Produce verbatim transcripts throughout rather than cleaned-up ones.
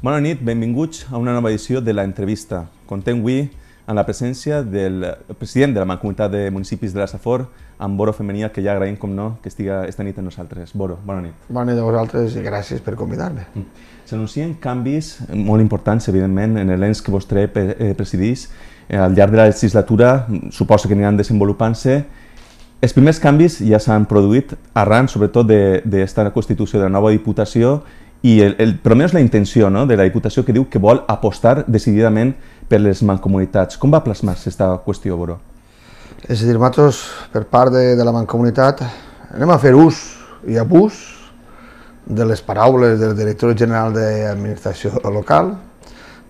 Bona nit, benvinguts a una nova edició de l'entrevista. Contem avui amb la presència del president de la Mancomunitat de Municipis de la Safor, amb Boro Femení, que ja agraïm, com no, que estigui esta nit amb nosaltres. Boro, bona nit. Bona nit a vosaltres i gràcies per convidar-me. S'anuncien canvis molt importants, evidentment, en l'ens que vostè presideix. Al llarg de la legislatura suposo que aniran desenvolupant-se. Els primers canvis ja s'han produït arran, sobretot, d'esta constitució de la nova Diputació i, el, el, per almenys, la intenció, no?, de la Diputació, que diu que vol apostar decididament per les mancomunitats. Com va plasmar-se aquesta qüestió, Boro? És a dir, nosaltres, per part de, de la Mancomunitat, anem a fer ús i abús de les paraules del director general d'Administració Local,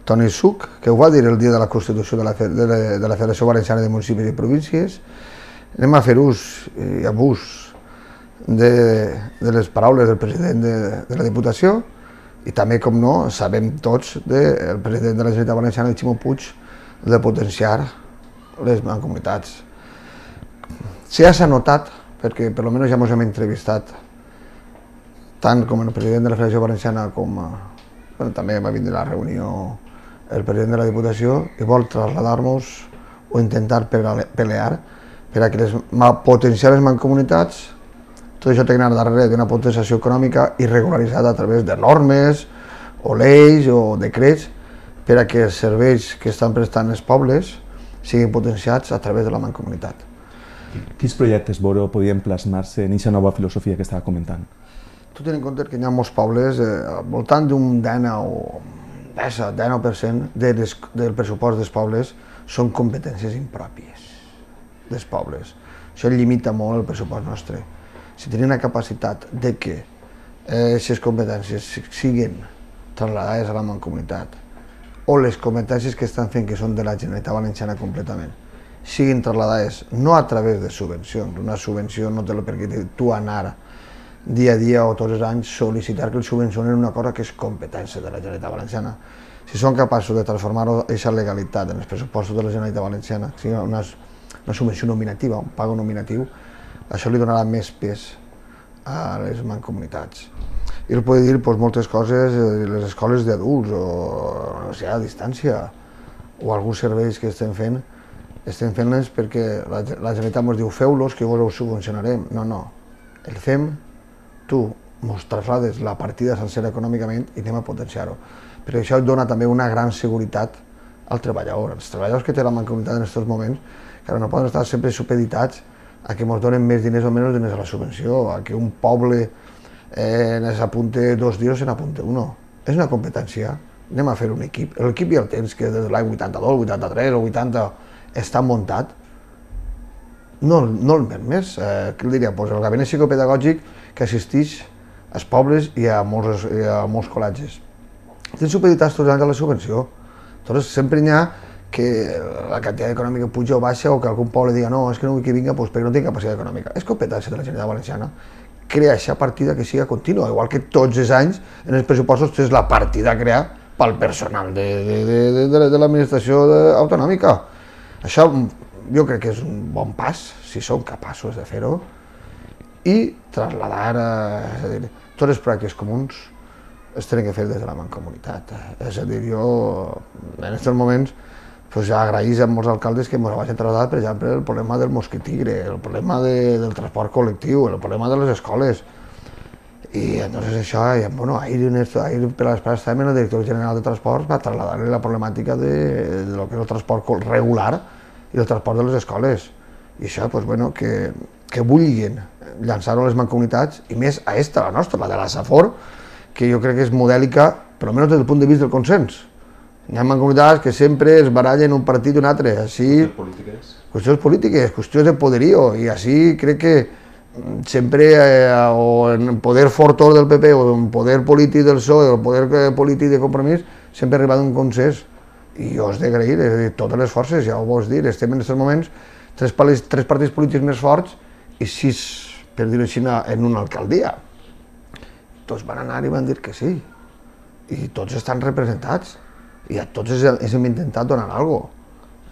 Toni Such, que ho va dir el dia de la Constitució de la, de la, de la Federació Valenciana de Municipis i Províncies. Anem a fer ús i abús de, de les paraules del president de, de la Diputació i també, com no, sabem tots del president de la Generalitat Valenciana, el Ximo Puig, de potenciar les mancomunitats. Ja s'ha notat, perquè per almenys ja ens hem entrevistat, tant com el president de la Federació Valenciana com bueno, també va vindre a la reunió el president de la Diputació i vol traslladar-nos o intentar pelear per a que les, potenciar les mancomunitats. Tot això té que anar darrere d'una potenciació econòmica i regularitzada a través de normes o lleis o decrets per a que els serveis que estan prestant els pobles siguin potenciats a través de la mancomunitat. Quins projectes, Boro, podien plasmar-se en aquesta nova filosofia que estava comentant? Tu ten en compte que hi ha molts pobles, eh, al voltant d'un dinou per cent de les, del pressupost dels pobles són competències impròpies dels pobles. Això limita molt el pressupost nostre. Si tenim una capacitat de que aquestes competències siguin trasladades a la mancomunitat o les competències que estan fent, que són de la Generalitat Valenciana completament, siguin trasladades no a través de subvencions. Una subvenció no té el perquè tu anar dia a dia o tots els anys sol·licitar que el subvencionen una cosa que és competència de la Generalitat Valenciana. Si són capaços de transformar aquesta legalitat en els pressupostos de la Generalitat Valenciana, que sigui una, una subvenció nominativa, un pago nominatiu, això li donarà més pes a les mancomunitats. I el pot dir doncs, moltes coses, les escoles d'adults o no sé, a distància, o alguns serveis que estem fent, estem fent-les perquè la, la Generalitat ens diu feu-los que vos ho subvencionarem. No, no, el fem, tu ens traslades la partida sencera econòmicament i anem a potenciar-ho. Perquè això dona també una gran seguretat al treballador. Els treballadors que té la mancomunitat en aquests moments, que no poden estar sempre supeditats a que ens donen més diners o menys diners a la subvenció, a que un poble eh, s'apunte dos dies o se n'apunte un. És una competència, anem a fer un equip. L'equip ja el tens, que des de l'any vuitanta-dos, vuitanta-tres o vuitanta està muntat. No, no el més, eh, què el diria? Pues el gabinet psicopedagògic que assisteix als pobles i a molts, i a molts col·legis. Tens supeditats tots els anys a la subvenció. Llavors sempre n'hi ha que la quantitat econòmica puja o baixa o que algun poble diga no, és que no vull que vinga doncs perquè no té capacitat econòmica. És competència de la Generalitat Valenciana crear aquesta partida que siga contínua, igual que tots els anys en els pressupostos tens la partida a crear pel personal de, de, de, de, de l'administració autonòmica. Això jo crec que és un bon pas, si som capaços de fer-ho, i trasladar, és a dir, tots els projectes comuns es tenen que fer des de la mancomunitat. És a dir, jo en aquests moments pues ja agraïs a molts alcaldes que ens vagin traslladar, per exemple, el problema del mosquitigre, el problema de, del transport col·lectiu, el problema de les escoles. I entonces això, bueno, ahir, ahir per les parades també el director general de transports va trasladar-li la problemàtica de, de lo que és el transport regular i el transport de les escoles. I això, pues, bueno, que, que vulguin llançar-ho a les mancomunitats, i més a esta, la nostra, la de la Safor, que jo crec que és modèlica, per almenys des del punt de vista del consens. Hi ha mancomunitats que sempre es barallen un partit i un altre, així... Qüestions polítiques. Qüestions polítiques, qüestions de poderío, i així crec que sempre, eh, o en el poder fortor del P P, o en el poder polític del P S O E, o el poder polític de Compromís, sempre ha arribat un consens. I jo us he d'agrair, és a dir, totes les forces, ja ho vols dir, estem en aquests moments tres, tres partits polítics més forts i sis, per dir-ho així, en una alcaldia. Tots van anar i van dir que sí, i tots estan representats. I a tots ens hem intentat donar alguna cosa,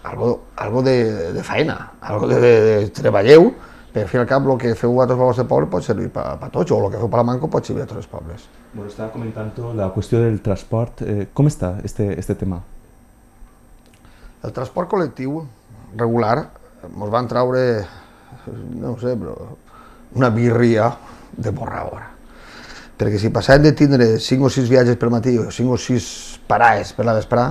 algo, algo de, de feina, algo de, de, de treballeu Per fi al cap, el que feu a tots els vostres pobles pot servir per a tots, o el que feu per la Manco pot servir a tots els pobles. Bueno, estaba comentando la cuestión del transporte. Eh, ¿Cómo está este, este tema? El transport col·lectiu regular ens van traure, no ho sé, però una birria de borradora. Perquè si passàvem de tindre cinc o sis viatges per matí o cinc o sis parades per la vesprà,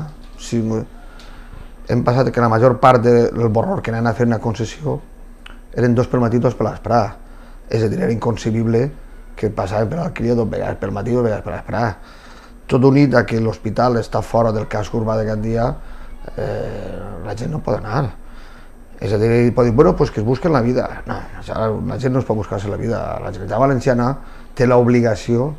hem passat que la major part del borror que anaven a fer una concessió eren dos per matí i dos per la vesprà. És a dir, era inconcebible que passàvem per l'Alqueria dos vegades per matí i dos vegades per la vesprà. Tot unit a que l'hospital està fora del casc urbà de Gandia, eh, la gent no pot anar. És a dir, pot dir, bueno, pues que es busquen la vida. No, la gent no es pot buscar-se la vida. La Generalitat Valenciana té l'obligació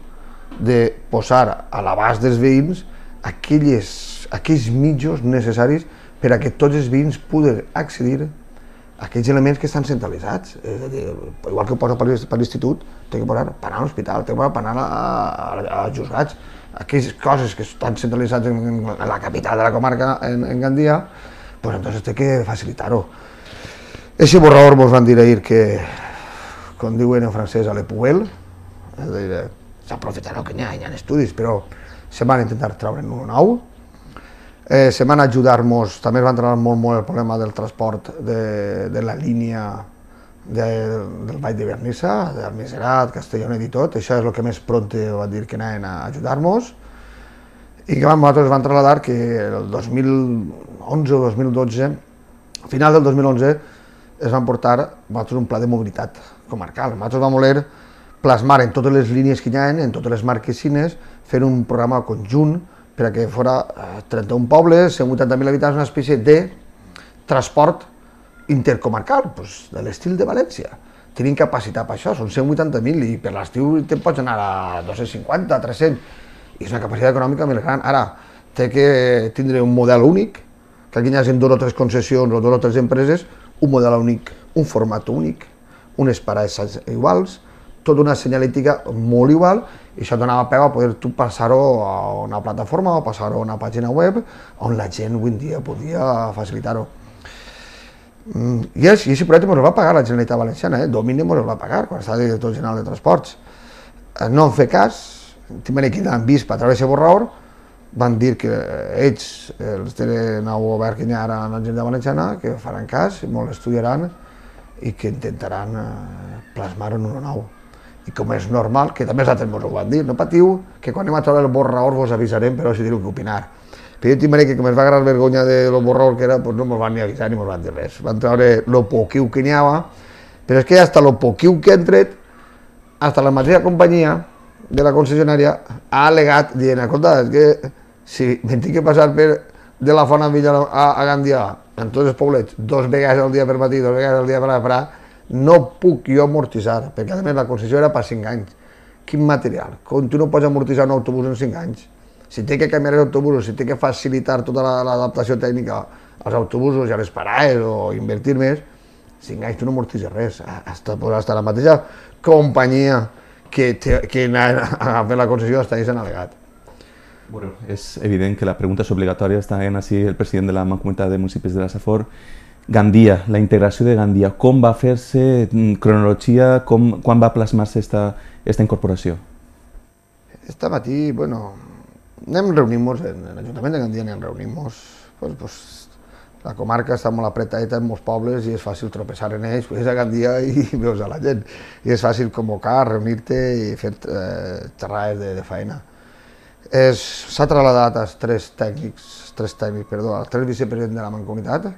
de posar a l'abast dels veïns aquelles, aquells mitjos necessaris per a que tots els veïns puguen accedir a aquells elements que estan centralitzats. És a dir, igual que ho posa per l'institut, té que posar per anar a l'hospital, té que posar per anar als juzgats. Aquelles coses que estan centralitzades en la capital de la comarca, en, en Gandia, pues entonces té que facilitar-ho. Eixe borrador ens van dir ahir que, com diuen en francès, a l'Epuel, és a dir, s'aprofitarà que n'hi ha, hi ha estudis, però se van intentar treure en un nou. Eh, se van ajudar-nos, també es van treure molt, molt el problema del transport de, de la línia de, del Vall de Vernissa, d'Almiserat, Castellonet i tot. Això és el que més pront van dir que anaven a ajudar-nos. I que nosaltres van trasladar que el dos mil onze o dos mil dotze, a final del dos mil onze, es van portar nosaltres un pla de mobilitat comarcal. Nosaltres vam voler plasmar en totes les línies que hi ha, en totes les marquesines, fer un programa conjunt per a que fora trenta-un pobles, cent vuitanta mil habitants, una espècie de transport intercomarcal, pues, de l'estil de València. Tenim capacitat per això, són cent vuitanta mil i per l'estiu te'n pots anar a dos-cents cinquanta, tres-cents, i és una capacitat econòmica molt gran. Ara, té que tindre un model únic, que aquí hi hagi dos o tres concessions o dos o tres empreses, un model únic, un format únic, unes parades iguals, tota una senyalítica molt igual, i això donava peu a poder tu passar-ho a una plataforma o passar-ho a una pàgina web on la gent avui en dia podia facilitar-ho. I aquest projecte ens el va pagar la Generalitat Valenciana, eh? Domini ens el va pagar quan estava director general de Transports. No en fer cas, també que han vist per través de borrador, van dir que ells, els del nou govern que hi ha ara a la Generalitat Valenciana, que faran cas, molt estudiaran i que intentaran plasmar-ho en un nou. I com és normal, que també els altres ens ho van dir, no patiu, que quan anem a treure el borrador vos avisarem, però si teniu que opinar. Però jo t'imagino que com es va agarrar vergonya del borrador que era, doncs no ens van ni avisar ni ens van dir res. Van treure el poquiu que n'hi havia, però és que hasta el poquiu que han tret, hasta la mateixa companyia de la concessionària ha al·legat dient, escolta, és que si m'he tinc que passar per de la Font Villa a, a Gandia, en tots els poblets, dos vegades al dia per matí, dos vegades al dia per la no puc jo amortitzar, perquè a més la concessió era per cinc anys. Quin material? Com tu no pots amortitzar un autobús en cinc anys? Si té que canviar els autobusos, si té que facilitar tota l'adaptació tècnica als autobusos i a les parades o invertir més, cinc anys tu no amortitzes res. Hasta, pues, hasta la mateixa companyia que, te, que ha fet la concessió hasta ahí s'han al·legat. Bueno, és evident que la pregunta és obligatòria, està en així el president de la Mancomunitat de Municipis de la Safor. Gandia, la integració de Gandia, com va fer-se, cronologia, com, quan va plasmar-se esta, esta incorporació? Este matí, bueno, anem reunint-nos, en l'Ajuntament de Gandia anem reunint-nos, pues, pues, la comarca està molt apretadeta en molts pobles i és fàcil tropeçar en ells, pues, a Gandia i veus a la gent, i és fàcil convocar, reunir-te i fer eh, xerrades de, de feina. S'ha trasladat als tres tècnics, tres tècnics, perdó, als tres vicepresidents de la Mancomunitat,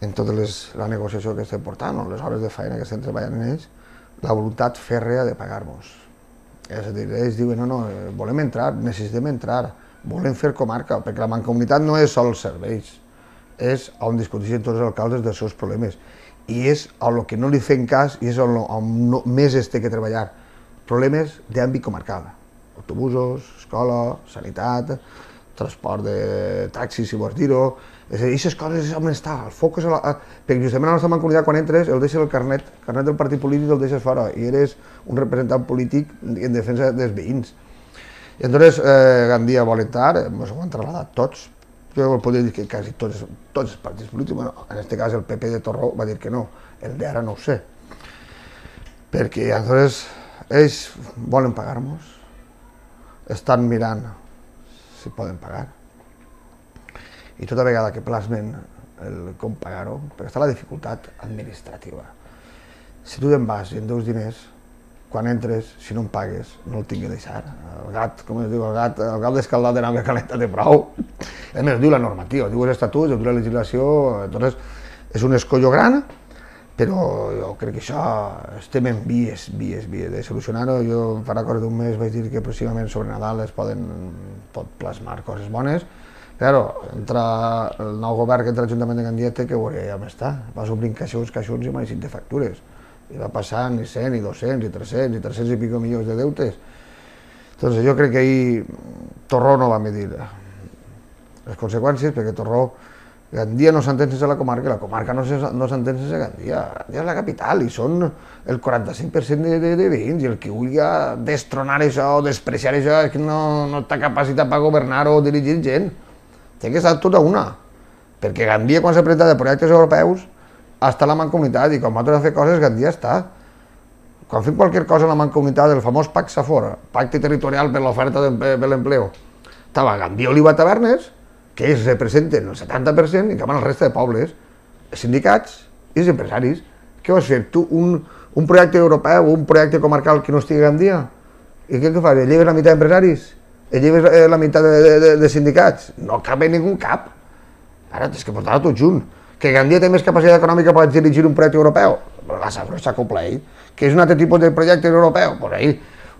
en tota la negociació que estem portant, o les hores de feina que estem treballant en ells, la voluntat fèrrea de pagar-nos. És a dir, ells diuen, no, no, volem entrar, necessitem entrar, volem fer comarca, perquè la Mancomunitat no és sols serveis, és on discuteixen tots els alcaldes dels seus problemes, i és a lo que no li fem cas i és on, on no, més es té que treballar. Problemes d'àmbit comarcal, autobusos, escola, sanitat, transport de taxis, si vols dir-ho. És a dir, aquestes coses és on està, el foc és a la... Perquè justament a la nostra Mancomunitat, quan entres, el deixes el carnet, el carnet del partit polític el deixes fora, i eres un representant polític en defensa dels veïns. I llavors, eh, Gandia vol entrar, ens ho han trasladat tots. Jo podria dir que quasi tots, tots els partits polítics, bueno, en aquest cas el P P de Torró va dir que no, el d'ara no ho sé. perquè aleshores ells volen pagar-nos, estan mirant si poden pagar, i tota vegada que plasmen el com pagar-ho, perquè està la dificultat administrativa. Si tu te'n vas i en deus diners, quan entres, si no em pagues, no el tinc que deixar. El gat, com es diu, el gat, el gat d'escaldat de nau que calenta té prou. A més, diu la normativa, diu els estatuts, diu la legislació, entonces és un escollo gran, però jo crec que això estem en vies, vies, vies de solucionar-ho. Jo farà cosa d'un mes vaig dir que pròximament sobre Nadal es poden pot plasmar coses bones. Claro, entra el nou govern que entra a l'Ajuntament de Gandia té que veure ja on està. Vas obrint caixons, caixons i mai de factures. I va passant i cent, i dos-cents, i tres-cents, i tres-cents i pico milions de deutes. Entonces jo crec que ahir Torró no va medir les conseqüències, perquè Torró, Gandia no s'entén sense la comarca, la comarca no s'entén sense Gandia. Gandia és la capital i són el quaranta-cinc per cent de, de, de veïns, i el que vulgui destronar això o despreciar això és que no, no està capacitat per governar o dirigir gent. Té que estar tota una, perquè Gandia quan s'ha presentat de projectes europeus està a la Mancomunitat, i quan nosaltres hem fet coses Gandia està. Quan fem qualsevol cosa a la Mancomunitat, el famós P A C SAFOR, Pacte Territorial per l'Oferta per l'Empleo, estava Gandia, Oliva, Tavernes, que ells representen el setanta per cent, i que van el resta de pobles, els sindicats i els empresaris. Què vas fer? Tu, un, un projecte europeu o un projecte comarcal que no estigui a Gandia? I què, què fas? Lleves la meitat d'empresaris? Lleves la meitat de, de, de, de sindicats? No cap en ningú cap. Ara tens que portar-ho tot junt. Que Gandia té més capacitat econòmica per dirigir un projecte europeu? La SAFOR s'acopla a ell. Que és un altre tipus de projecte europeu? Pues ahí.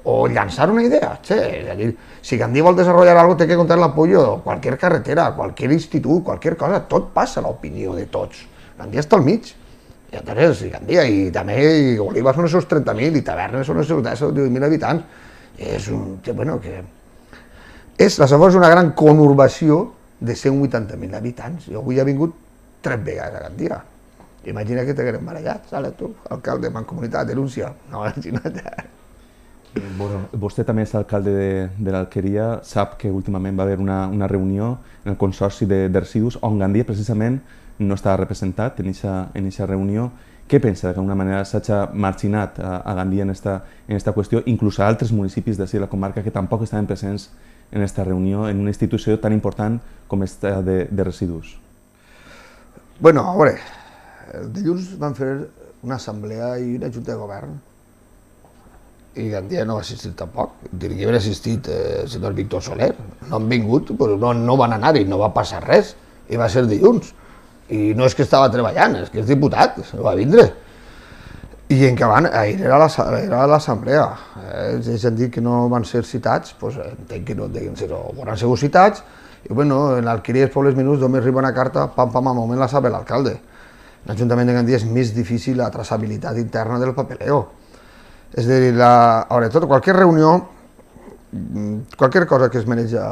O llançar una idea. Che, és a dir, si Gandia vol desenvolupar alguna cosa, té que comptar l'apoyo de qualsevol carretera, qualsevol institut, qualsevol cosa. Tot passa a l'opinió de tots. Gandia està al mig. I entonces, Gandia, i també i Oliva són els seus trenta mil, i Tavernes són els seus deu o divuit mil habitants. És un... bueno, que... És, la SAFOR és una gran conurbació de cent vuitanta mil habitants. Jo avui he vingut tres vegades a Gandia. Imagina que t'haguem barallat, saps tu? Alcalde de Mancomunitat, denúncia. No, imagina't. Bueno, vostè també és alcalde de, de l'Alqueria, sap que últimament va haver una, una reunió en el Consorci de, de Residus on Gandia precisament no estava representat en aquesta reunió. Què pensa que d'alguna manera s'ha marginat a, a Gandia en esta, en esta qüestió, inclús a altres municipis de la comarca que tampoc estaven presents en aquesta reunió, en una institució tan important com esta de, de residus? Bueno, a veure, el dilluns van fer una assemblea i una junta de govern i Gandia no va assistir tampoc. Diria que havia assistit eh, el senyor Víctor Soler. No han vingut, però no, no van anar i no va passar res. I va ser dilluns. I no és que estava treballant, és que és diputat, va vindre. I en què van, ahir era l'assemblea. Ells han dit que no van ser citats, doncs entenc que no deien ser, o van ser citats, i bueno, en l'Alqueria dels Pobles Menuts només arriba una carta, pam, pam, al moment la sabe l'alcalde. L'Ajuntament de Gandia és més difícil la traçabilitat interna del papeleo. És a dir, la, a veure, tot, qualsevol reunió, qualsevol cosa que es maneja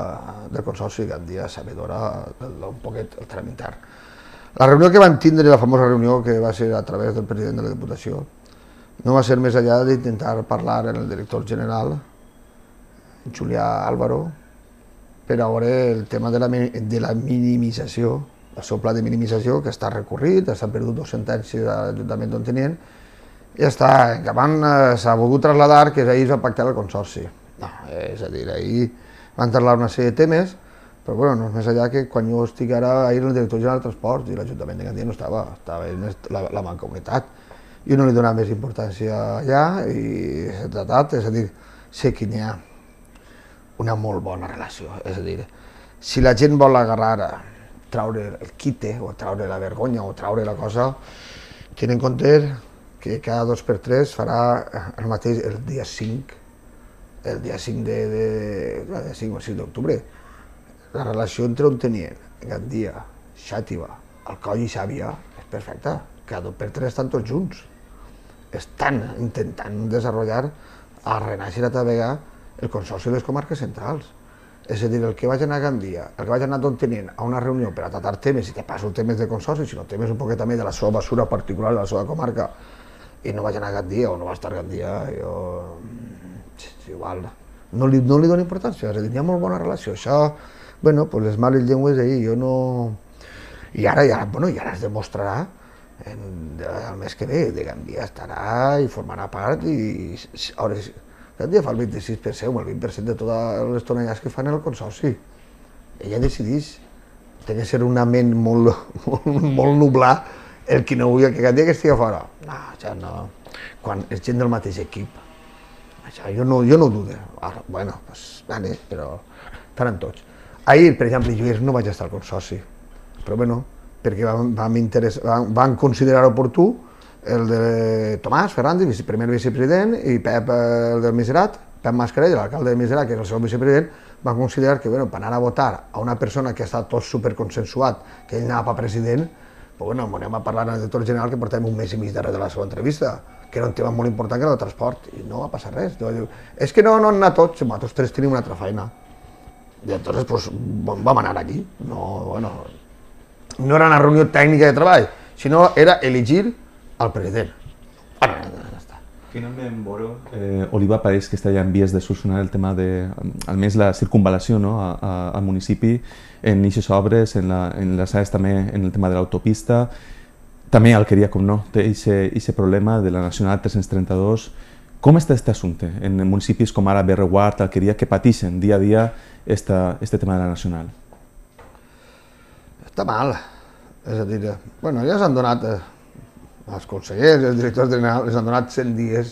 del Consorci de Gandia sabedora un poquet el tram intern. La reunió que van tindre, la famosa reunió que va ser a través del president de la Diputació, no va ser més enllà d'intentar parlar amb el director general, Julià Álvaro, per a veure el tema de la, de la minimització, el seu pla de minimització, que està recorrit, s'han perdut dos sentències a l'Ajuntament d'on tenien, i ja està, que van, s'ha volgut traslladar que ahir es va pactar el Consorci. No, és a dir, ahir van parlar una sèrie de temes, però bueno, no és més allà que quan jo estic ara, ahir el director general de Transports i l'Ajuntament de Gandia no estava, estava la, la Mancomunitat. Jo no li donava més importància allà i s'ha tratat, és a dir, sé que n'hi ha una molt bona relació, és a dir, si la gent vol agarrar, traure el quite o traure la vergonya o traure la cosa, ten en compte que cada dos per tres farà el mateix el dia cinc, el dia cinc de, de, de cinc o sis d'octubre. La relació entre on tenien Gandia, Xàtiva, Alcoi i Xàbia és perfecta, cada dos per tres estan tots junts. Estan intentant desenvolupar a renaixer a Tavega el Consorci de les Comarques Centrals. És a dir, el que vaig anar a Gandia, el que vaig anar d'on tenien a una reunió per a tratar temes, i te passo temes de consorci, sinó temes un poquet també de la seva basura particular de la seva comarca, i no vaig anar a Gandia o no va estar a Gandia, jo... igual, no li, no li dono importància, és a dir, hi ha molt bona relació, això, bueno, pues les males llengües ahir, jo no... I ara, ja, bueno, i ara es demostrarà el mes que ve de Gandia estarà i formarà part i Gandia fa el vint-i-sis per cent o el vint per cent de totes les tonellades que fan el consorci. Ella decideix. Té que ser una ment molt, molt, molt nublar el que no vulgui que Gandia que estigui fora. No, això no. Quan és gent del mateix equip. Això jo no, jo no ho dudo. Ara, bueno, pues, vale, però estaran tots. Ahir, per exemple, jo no vaig estar al consorci, però bueno, perquè vam, vam, van, van considerar oportú el de Tomàs Fernández, primer vicepresident, i Pep, el del Miserat, Pep Mascarell, l'alcalde de Miserat, que és el seu vicepresident, van considerar que bueno, per anar a votar a una persona que ha estat tot superconsensuat, que ell anava per president, però bueno, anem a parlar al director general que portem un mes i mig darrere de la seva entrevista, que era un tema molt important que era el transport, i no va passar res. És que no, no han anat tots, nosaltres tres tenim una altra feina. I entonces pues, vam anar allí. No, bueno, no era una reunió tècnica de treball, sinó era elegir el president. Bueno, ja està. Finalment, Boro, eh, Oliva pareix que està ja en vies de solucionar el tema de, almenys la circunvalació, no, a, a, al municipi, en eixes obres, en, la, en les àrees també en el tema de l'autopista. També Alqueria, com no, té aquest problema de la Nacional tres-cents trenta-dos. Com està aquest assumpte en municipis com ara Berreguard, Alqueria, que pateixen dia a dia este tema de la Nacional? Està mal. És a dir, bueno, ja s'han donat, els consellers, els directors generals, s'han donat cent dies,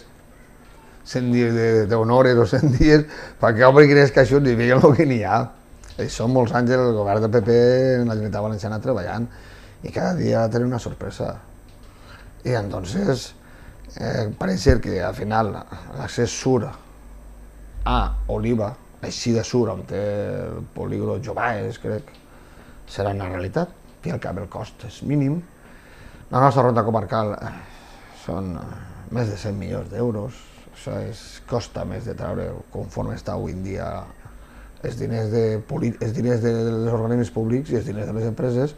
cent dies d'honores o cent dies perquè obrin els caixons i vegin el que n'hi ha. Són molts anys el govern del P P en la Generalitat Valenciana treballant i cada dia tenen una sorpresa. I entonces, eh, pareix ser que al final l'accés sur a Oliva, així de sur, on té el polígon Jobaes, crec, serà una realitat. I al cap el cost és mínim. La nostra ronda comarcal són més de cent milions d'euros. Això és, costa més de treure, conforme està avui en dia, els diners, de, els diners dels organismes públics i els diners de les empreses.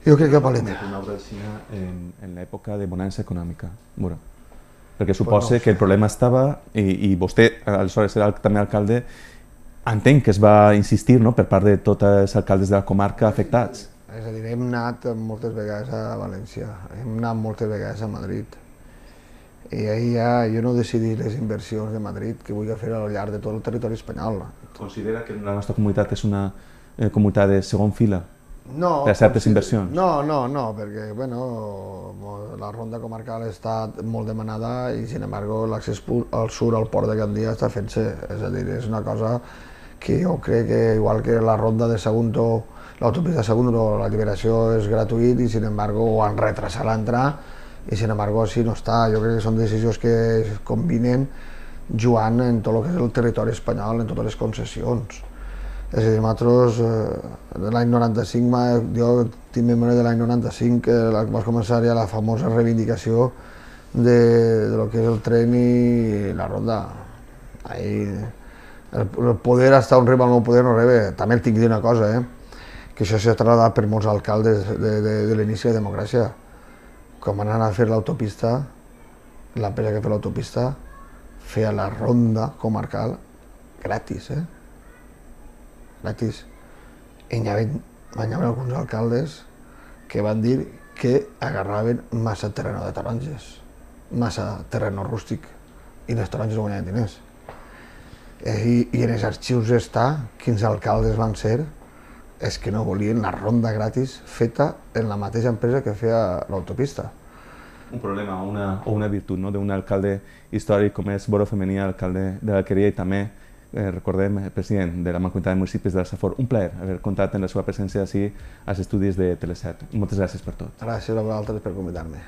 Jo crec que paleta. Una obra de Xina en, en l'època de bonança econòmica, Muro. Perquè suposa que el problema estava, i, i vostè, aleshores era també alcalde, entenc que es va insistir no, per part de tots els alcaldes de la comarca afectats. És a dir, hem anat moltes vegades a València, hem anat moltes vegades a Madrid. I ahir ja jo no decidí les inversions de Madrid que vull fer al llarg de tot el territori espanyol. Considera que la nostra comunitat és una eh, comunitat de segon fila? No, per a certes inversions? No, no, no, perquè bueno, la ronda comarcal està molt demanada i, sin embargo, l'accés al sur al port de Gandia està fent-se. És a dir, és una cosa que jo crec que, igual que la ronda de Sagunto, l'autopista de Sagunto, la liberació és gratuït i, sin embargo, ho han retrasat l'entrar i, sin embargo, així no està. Jo crec que són decisions que es combinen jugant en tot el que és el territori espanyol, en totes les concessions. És a dir, nosaltres, de l'any noranta-cinc, jo tinc memòria de l'any noranta-cinc, que va començar ja la famosa reivindicació de, de lo que és el tren i la ronda. Ahí, el, el poder està on arriba el nou poder no rebe. També el tinc de dir una cosa, eh? que això s'ha trasladat per molts alcaldes de, de, de l'inici de la democràcia. Quan van anar a fer l'autopista, l'empresa que feia l'autopista feia la ronda comarcal gratis, eh? gratis. I hi havia alguns alcaldes que van dir que agarraven massa terreno de taronges, massa terreno rústic, i les taronges no guanyaven diners. I, i en els arxius està quins alcaldes van ser és que no volien la ronda gratis feta en la mateixa empresa que feia l'autopista. Un problema o una, o una virtut no? d'un alcalde històric com és Boro Femení, alcalde de l'Alqueria, i també Eh, recordem, el president de la Mancomunitat de Municipis de la Safor. Un plaer haver comptat amb la seva presència ací als estudis de Teleset. Moltes gràcies per tot. Gràcies a vosaltres per convidar-me.